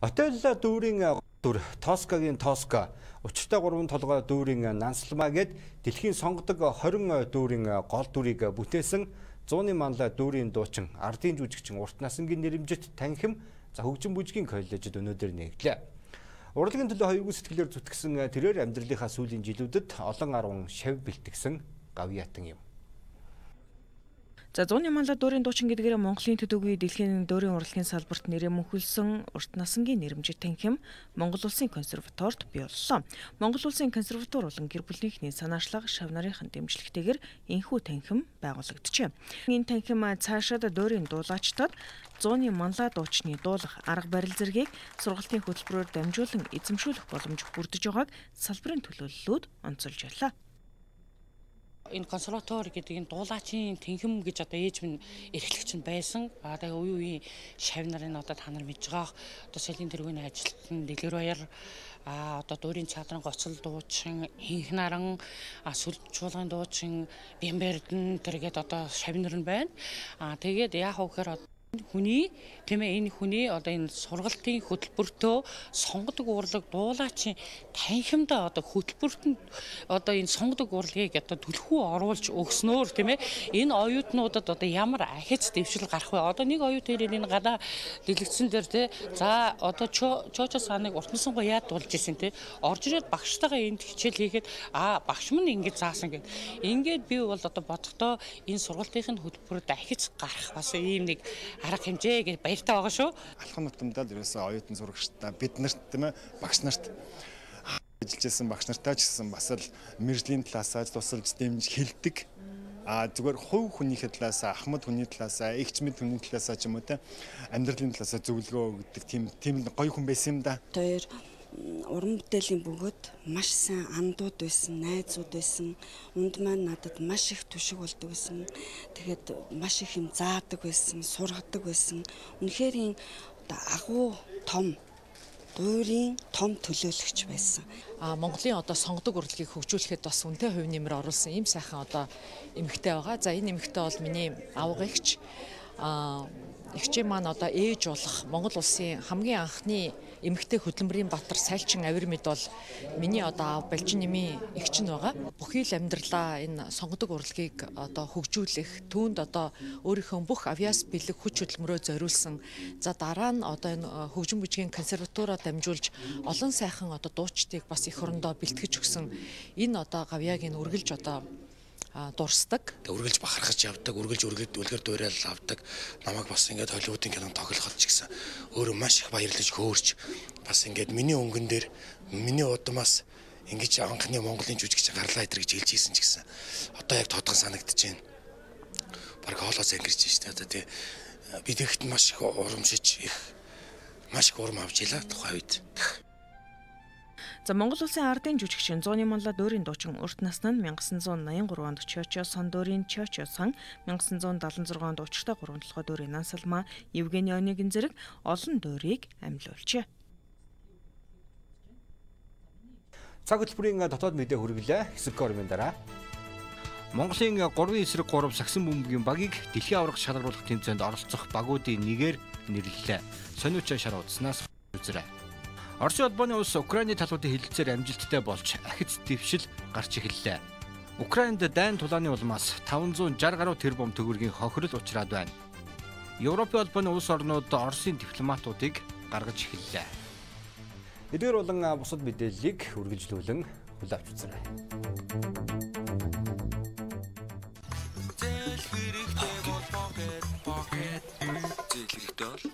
Отелла дүүрийн дүр Тоскагийн Тоска учиртай 3 толгой дүүрийн Нансалмаа гээд дэлхийн сонгодог 20 дүүрийн гол дүрийг бүтээсэн 100-ны манлай дүүрийн дуучин ардын жүжигчин Урт Насангийн нэрэмжит танхим хөгжин бүжгийн коллежид өнөөдөр нэгдлээ. Урлагийн төлөө хоёргүй сэтгэлээр зүтгэсэн тэрээр амьдралынхаа сүүлийн жилүүдэд олон арван шав бэлтгэсэн гавьяатан юм. За 100-ны манлай дүүрийн дуучин гэдгээр Монголын төдийгүй дэлхийн дүүрийн урлагийн салбарт нэрээ мөнхөлсөн Урт Насангийн нэрэмжит танхим Монгол Улсын консерваторид бий боллоо. Монгол Улсын консерватор болон гэр бүлийнхний санаачлаг шав нарын дэмжлэгтэйгээр энэхүү танхим байгуулагджээ. Энэ танхим цаашаад дүүрийн дуулаачдад 100-ны манлай дуучны дуулах арга барил зэргийг сургалтын хөтөлбөрөөр дамжуулан эзэмшүүлэх боломж бүрдэж байгааг салбарын төлөөллүүд онцолж байлаа. Энэ консерватор гэдэг энэ дуулаачийн танхим гэж одоо ээж минь эрхлэгч нь байсан. Тэгээ үе үеийн шав нарын одоо та нар мэдж байгаа. Одоо соёлын тэргүүний ажилтан Дэлгэр Баяр одоо дүүрийн театрын гоцол дуучин, Инх наран, сүлж чуулган дуучин, Бямбердэн тэргээд одоо шав нар нь байна. Тэгээд яах вэ гэхээр хүний энэ хүний одоо энэ сургалтын хөтөлбөртөө сонгодог урлаг дуулаачийн танхимдаа одоо хөтөлбөрт одоо энэ сонгодог урлагийг одоо түлхүү оруулж өгснөөр энэ оюутнуудад одоо ямар ахиц дэвшил гарах вэ? Одоо нэг оюут хэрэг энэ гадаа дэлгэцэн дээр за одоо чоочо саныг Урт Насангоо яад дуулж исэн орж ирээд багштайгаа энд хичээл хийхэд багш мань ингэж заасан гэд. Ингээд би бол одоо бодохдоо энэ сургалтын хөтөлбөрөд ахиц гарах бас ийм нэг арга хэмжээ гэж баяртай байгаа шүү. Алхам нутамдаа л ерөөсөө оюутан сурагчтай бид нарт багш нарт ажиллажсэн багш нартай ч гэсэн бас л мэржлийн талаас тусалж дэмж хэлдэг. Зүгээр хувь хүнийхээ талаас ахмад хүний талаас эгч мэд хүний талаас ч юм уу амьдралын талаас зөвлөгөө өгдөг тийм гоё хүн байсан юм да. Тэр уран бүтээлийн бөгөөд маш сайн андууд байсан, найзууд байсан. Унд маань надад маш их түшиг болдог байсан. Тэгээд маш их юм заадаг байсан, сургадаг байсан. Үнэхээр агуу том дүүрийн том төлөөлөгч байсан. Монголын одоо сонгодог урлагийг хөгжүүлэхэд бас үнэтэй хувь нэмэр оруулсан ийм сайхан одоо эмэгтэй байгаа. За энэ эмэгтэй бол миний авга эгч. Эгчээ маань одоо ээж болох Монгол улсын хамгийн анхны эмэгтэй хөдөлмөрийн батар Сайлчин Авирмид бол миний одоо аав Балжин нэмийн эгч нь байгаа. Бүхий л амьдралаа энэ сонгодог урлагийг одоо хөгжүүлэх түүнд одоо өөрийнхөө бүх авьяас бэлэг хүч хөдөлмөрөө зориулсан. За дараа нь одоо энэ хөгжин бүжгийн консерватороо дамжуулж олон сайхан одоо дуучдыг бас эх орондоо бэлтгэж өгсөн. Энэ одоо гавьяагийн үргэлж одоо дурсдаг. Үргэлж бахархаж явдаг, үргэлж үлгэр дуурайал авдаг. Намайг бас ингээд Холливуудын кинонд тоглоход ч гэсэн өөрөө маш их баярлаж хөөрч бас ингээд миний өнгөн дээр миний удамаас ингэж анхны Монголын жүжигч гарлаа идэр гэж хэлж ийсэн ч гэсэн одоо яг тодгон санагдаж байна. Бараг хоолоос ангирч байна шүү дээ. Би тэгэхэд маш их урамшиж маш их урам авч илаа тухай үед. За Монгол Улсын ардын жүжигчин 100-ны манлай дүүрийн дуучин Урт Насны 1983 онд Чоочо сон дүүрийн Чоочо сон, 1976 онд учиртай 3 толгой дүүрийн Нансалмаа, Евгений Онегин зэрэг олон дүүрийг амьлуулжээ. Цаг хөтөлбөрийн дотоод мэдээ хүргэлээ. Хэсэг гормын дараа Монголын 3 эсрэг 3 сагсан бөмбөгийн багийг дэлхийн аварга шалгаруулах тэмцээнд оролцох багуудын нэгээр нэрлэлээ. Сониучаа шар удснаас үзрээ. Оросын улбаны улс Украины талуудын хэлэлцээр амжилттай болж ахиц дэвшил гарч эхэллээ. Украинд дайн тулааны улмаас 560 гаруй тэрбум төгрөгийн хохирол учраад байна. Европын улбаны улс орнууд Оросын дипломатуудыг гаргаж эхэллээ. Эдгээр болон бусад мэдээллийг үргэлжлүүлэн хүлээвч үзээрэй. Зээл хэрэгтэй бол